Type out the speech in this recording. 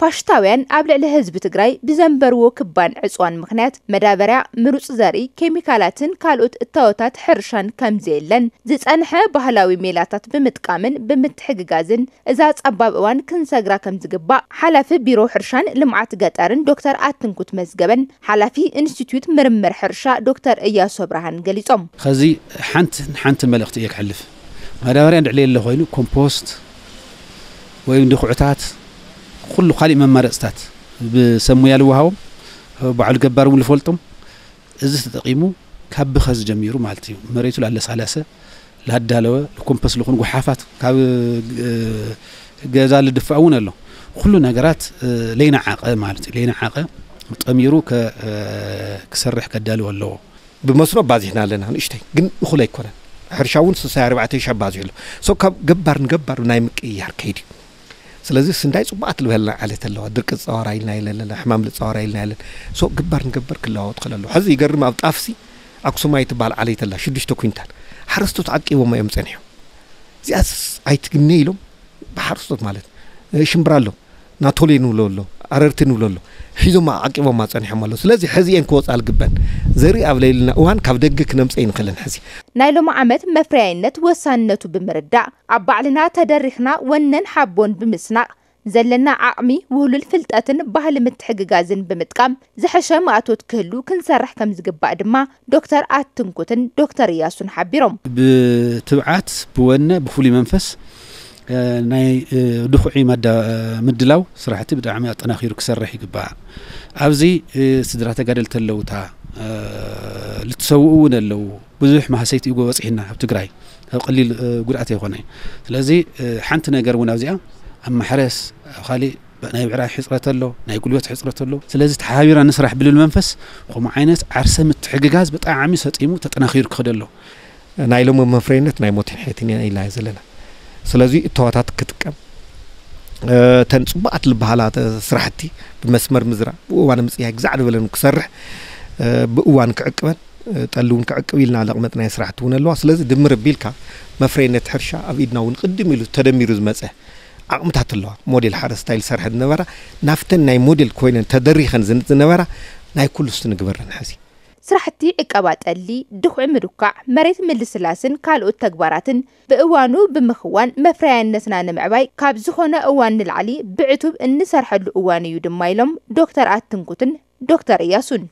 ፋሽስታውያን ኣብ ልዕሊ ህዝቢ ትግራይ ብዘንበርዎ ክባን ዕፅዋን ምኽንያት መዳበርያ፣ ምሩፅ ዘርኢ፣ ኬሚካላትን ካልኦት እታወታት ሕርሻን ከምዘየለን፣ ዝፀንሐ ባህላዊ ሜላታት ብምጥቃምን ብምትሕግጋዝን እዛ ፀባብ እዋን ክንሰግራ ከምዝግባእ ሓላፊ ቢሮ ሕርሻን ልምዓት ገጠርን ዶክተር ኣትንኩት መዝገበን ሓላፊ ኢንስቲትዩት ምርምር ሕርሻ ዶክተር እያሱ ኣብርሃን ገሊፆም። ከዚ ሓንቲ ሓንቲ መልእኽቲ እየ ክሕልፍ። ማዳበርያ እንድዕለ የለ ኮይኑ ኮምፖስት ወይ ድኹዕታት ኩሉ ካሊእ መማረፅታት ብሰብ ሙያ ልወሃቦም ባዕሉ ገባር እውን ልፈልጦም እዚ ተጠቂሙ ካብ ብኸዚ ጀሚሩ ማለት እዩ መሬቱ ላለሳለሰ ላዳለወ ልኮምፖስት ልኹን ጉሓፋት ካብ ገዛ ልድፋእ እውን ኣሎ። ኩሉ ነገራት ለይነዓቐ ማለት እዩ ለይነዓቐ ጠሚሩ ክሰርሕ ከዳልዎ ኣለዎ። ብመስኖ ኣባዚሕና ኣለና ንእሽተይ ግን እኹል ኣይኮነን። ሕርሻ እውን ስሳይ ኣርባዕተ ሺሕ ኣባዚሑ ኣሎ። ሶ ካብ ገባር ንገባር ናይ ምቅይያር ከይድ እዩ። ስለዚ ስንዳይ ፅቡቃት ልበልና ዓሌት ኣለዋ። ድርቂ ዝፃወራ ኢልና የለለና ሕማም ልፃወራ ኢልና የለን። ሶ ገባር ንገባር ክለዋወጥ ከለሎ ሕዚ ይገርም ኣብ ጣፍሲ ኣክሱማይ ትበሃል ዓሌት ኣላ ሽዱሽተ ኩንታል ሓረስቶት ዓቂቦም እዮም ፀኒሖም። እዚኣስ ኣይትግነ ኢሎም ብሓረስቶት ማለት ሽምብራ ኣሎ ናቶሌ ንብሎ ኣሎ ኣረርቲ ንብሎ ኣሎ ሒዞም ዓቂቦማ ፀኒሖም ኣሎ። ስለዚ ሕዚ እየን ክወፃ ልግበን ዘርኢ ኣብ ለይልና እዋን ካብ ደገ ክነምፀ ይንኽልን ሕዚ። ናይ ሎሚ ዓመት መፍረያይነት ወሳንነቱ ብምርዳእ ኣብ ባዕልና ተደሪኽና ወነን ሓቦን ብምስናቕ ዘለና ዓቕሚ ውህሉል ፍልጠትን ባህሊ ምትሕግጋዝን ብምጥቃም ዝሐሸ ማእቶት ክህሉ ክንሰርሕ ከምዝግባእ ድማ ዶክተር ኣትንኩትን ዶክተር እያሱን ሓቢሮም። ብትብዓት ብወነ ብፍሉይ መንፈስ ናይ ድኹዒ ምድላው ስራሕቲ ብጣዕሚ ኣጠናኺሩ ክሰርሕ ይግባእ። ኣብዚ ስድራ ተጋደልቲ ኣለውታ ልትሰውኡ እውን ኣለዉ። ብዙሕ ማህሰይቲ እዩ በፂሕና ኣብ ትግራይ ኣብ ቀሊል ጉድኣት ኣይኮነ። ስለዚ ሓንቲ ነገር እውን ኣብዚኣ ኣብ ማሕረስ ኣብ ካሊእ ናይ ብዕራይ ሕፅረት ኣሎ ናይ ጉልበት ሕፅረት ኣሎ። ስለዚ ተሓቢራ ንስራሕ ብልብል መንፈስ ከምኡ ዓይነት ዓርሰ ምትሕግጋዝ ብጣዕሚ ሰጢሙ ተጠናኺሩ ክኸደ ኣሎ። ናይ ሎሚ መፍረይነት ናይ ሞትን ሕየትን ኢና ኢልና ዘለና። ስለዚ እተዋታት ክጥቀም ተን ፅቡቃት ልበሃላ ስራሕቲ ብመስመር ምዝራ ብእዋን ምፅያይ ግዛዕ ዝበለን ክሰርሕ ብእዋን ክዕቅበን ጠሊ እውን ክዕቅብ ኢልና ለቕመጥናዮ ስራሕቲ እውን ኣለዋ። ስለዚ ድምር ኣቢልካ መፍረይነት ሕርሻ ኣብ ኢድና እውን ቅድም ኢሉ ተደሚሩ ዝመፀ ዓቕምታት ኣለዋ። ሞዴል ሓረስታይ ዝሰርሐ ዝነበራ ናብተን ናይ ሞዴል ኮይነን ተደሪኸን ዝነጥ ዝነበራ ናይ ኩሉ ስቲ ንግበረን ሕዚ። ስራሕቲ ዕቀባ ጠሊ፣ ድኹዒ ምድኳዕ፣ መሬት ምልስላስን ካልኦት ተግባራትን ብእዋኑ ብምኽዋን መፍረያይነትና ንምዕባይ ካብ ዝኾነ እዋን ንላዕሊ ብዕቱብ እንሰርሐሉ እዋን እዩ ድማ ኢሎም ዶክተር ኣትንኩትን ዶክተር እያሱን።